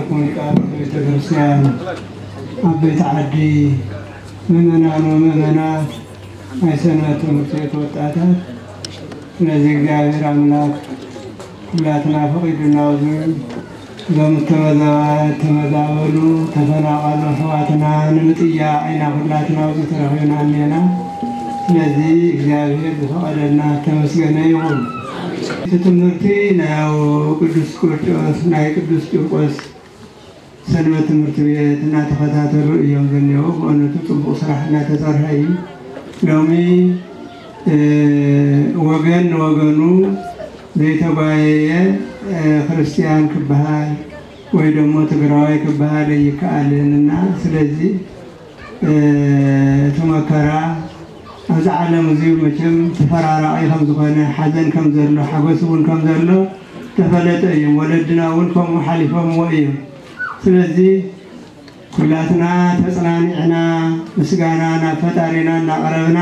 ኩም ሊቃውንተ ቤተ ክርስቲያን፣ ዓበይቲ ዓዲ፣ ምእመናን ወምእመናት፣ ናይ ሰንበት ትምህርቲ ቤት ወጣታት፣ ስለዚ እግዚኣብሔር ኣምላክ ኩላትና ፈቒዱና ኣብዚ እዞም እተመዛ-፣ እተመዛበሉ ተፈናቐሉ ኣሕዋትና ንምጥያቕ ኢና ኩላትና ኣብዚ ተረኺብና እኒአና። ስለዚ እግዚኣብሔር ዝፈቐደልና ተመስገነ ይኹን። እቲ ትምህርቲ ናይ ቅዱስ ቂርቆስ፣ ናይ ቅዱስ ቂርቆስ ሰንበት ትምህርቲ ቤት እናተኸታተሉ እዮም ዘኒኦ። ብእውነቱ ጽቡቕ ስራሕ እናተሰርሐ እዩ። ሎሚ፣ እ፣ ወገን ንወገኑ ዘይተጓየየ፣ እ፣ ክርስቲያን ክበሃል ወይ ደሞ ትግራዋይ ክበሃል ኣይከኣልን እና ስለዚ፣ እ፣ እቲ መከራ ኣብዚ ዓለም እዚ መቸም ተፈራራቒ ከም ዝኾነ፣ ሓዘን ከም ዘሎ፣ ሓጎስ እውን ከም ዘሎ ተፈለጠ እዩ። ወለድና እውን ከምኡ ሓሊፎምዎ እዮም። ስለዚ ኩላትና ተጽናኒዕና ምስጋና ናብ ፈጣሪና እናቕረብና፣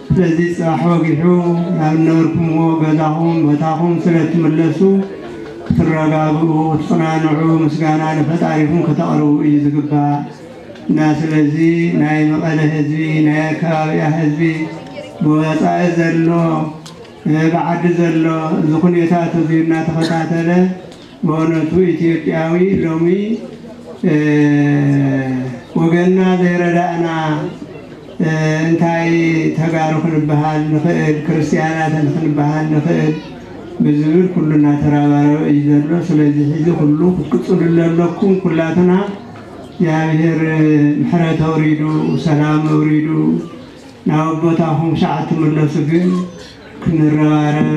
ስለዚ ጽባሕ ወጊሑ ናብ ዝነበርኩምዎ ገዛኹም ቦታኹም ስለ እትምለሱ ክትረጋግኡ፣ ክትጽናንዑ፣ ምስጋና ንፈጣሪኹም ከተቕርቡ እዩ ዝግባእ። እና ስለዚ ናይ መቐለ ህዝቢ፣ ናይ ኣከባቢያ ህዝቢ፣ ብወፃኢ ዘሎ፣ እ፣ ብዓዲ ዘሎ እዚ ኩነታት እዚ እናተኸታተለ፣ በእውነቱ ኢትዮጵያዊ ሎሚ፣ እ፣ ወገንና ዘይረዳእና፣ እ፣ እንታይ ተጋሩ ክንበሃል ንኽእል፣ ክርስቲያናት ክንበሃል ንኽእል ብዝብል ኩሉ እናተራባረበ እዩ ዘሎ። ስለዚ ሕዚ ኩሉ ክትቅፅሉ ኣለኩም። ኩላትና እግዚኣብሔር ምሕረት ኣውሪዱ፣ ሰላም ኣውሪዱ፣ ናብ ቦታኹም ሻዕ ትምለሱ ግን ክንረባረብ፣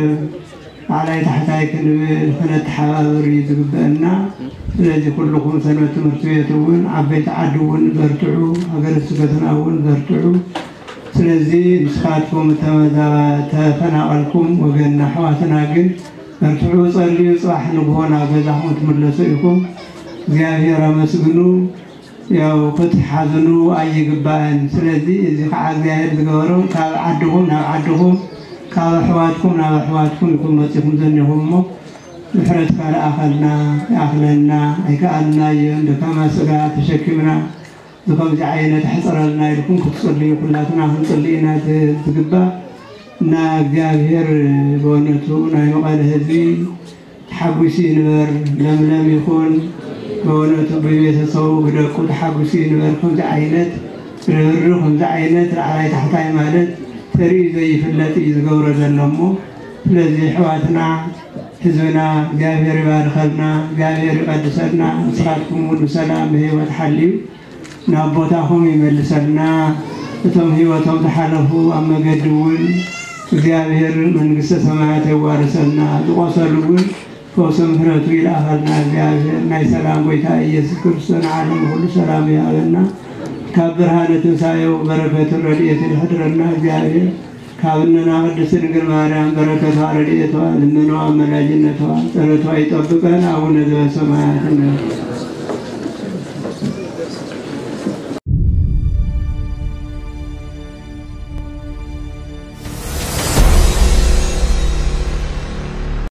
ላዕላይ ታሕታይ ክንብል፣ ክነተሓባብር እዩ ዝግበአና። ስለዚ ኩልኹም ሰንበት ትምህርቲ ቤት እውን፣ ዓበይቲ ዓዲ እውን በርትዑ፣ ሃገረ ስብከትና እውን በርትዑ። ስለዚ ንስኻትኩም እተመዛ-፣ ተፈናቐልኩም ወገንና ኣሕዋትና ግን በርትዑ፣ ጸልዩ፣ ጽባሕ ንግሆ ናብ ገዛኹም ትምለሱ ኢኹም። እግዚኣብሔር ኣመስግኑ። ያው ክትሓዝኑ ኣይግባእን። ስለዚ እዚ ከዓ እግዚኣብሔር ዝገበሮ ካብ ዓድኹም ናብ ዓድኹም፣ ካብ ኣሕዋትኩም ናብ ኣሕዋትኩም ኢኹም መፂኹም ዘኒኹም እሞ ምሕረትካ ለኣኸልና፣ ይኣኽለና፣ ኣይከኣልናዮን፣ ደካማ ስጋ ተሸኪምና፣ እዚ ከምዚ ዓይነት ኣሕፅረልና ኢልኩም ክትፅልዩ ኩላትና ክንፅሊ ኢና ዝ-፣ ዝግባእ። እና እግዚኣብሔር ብእውነቱ ናይ መቐለ ህዝቢ ተሓጒሱ ይንበር፣ ለምለም ይኹን። ብእውነቱ ብቤተሰቡ ብደቁ ተሓጒሱ ይንበር። ከምዚ ዓይነት ርህርህ፣ ከምዚ ዓይነት ላዕላይ ታሕታይ ማለት ተርእዩ ዘይፍለጥ እዩ ዝገብሮ ዘሎ እሞ፣ ስለዚ ኣሕዋትና ህዝብና እግዚኣብሔር ይባርከልና፣ እግዚኣብሔር ይቐድሰልና። ንስኻትኩም እውን ብሰላም ብህይወት ሓልዩ ናብ ቦታኹም ይመልሰልና። እቶም ህይወቶም ዝሓለፉ ኣብ መገዲ እውን እግዚኣብሔር መንግስተ ሰማያት የዋርሰልና። ዝቆሰሉ እውን ፈውሰ ምሕረቱ ይልኣኸልና። እግዚኣብሔር ናይ ሰላም ጎይታ ኢየሱስ ክርስቶስ ንዓለም ኩሉ ሰላም ይሃበና። ካብ ብርሃነ ትንሳኤው በረከትን ረድኤትን ይሕድረና። እግዚኣብሔር ካብ እነና ቅድስት ድንግል ማርያም በረከቷ ረድኤቷ ልመናዋ ኣመላጅነቷ ጸሎቷ ይጠብቀን። ኣቡነ ዘበሰማያት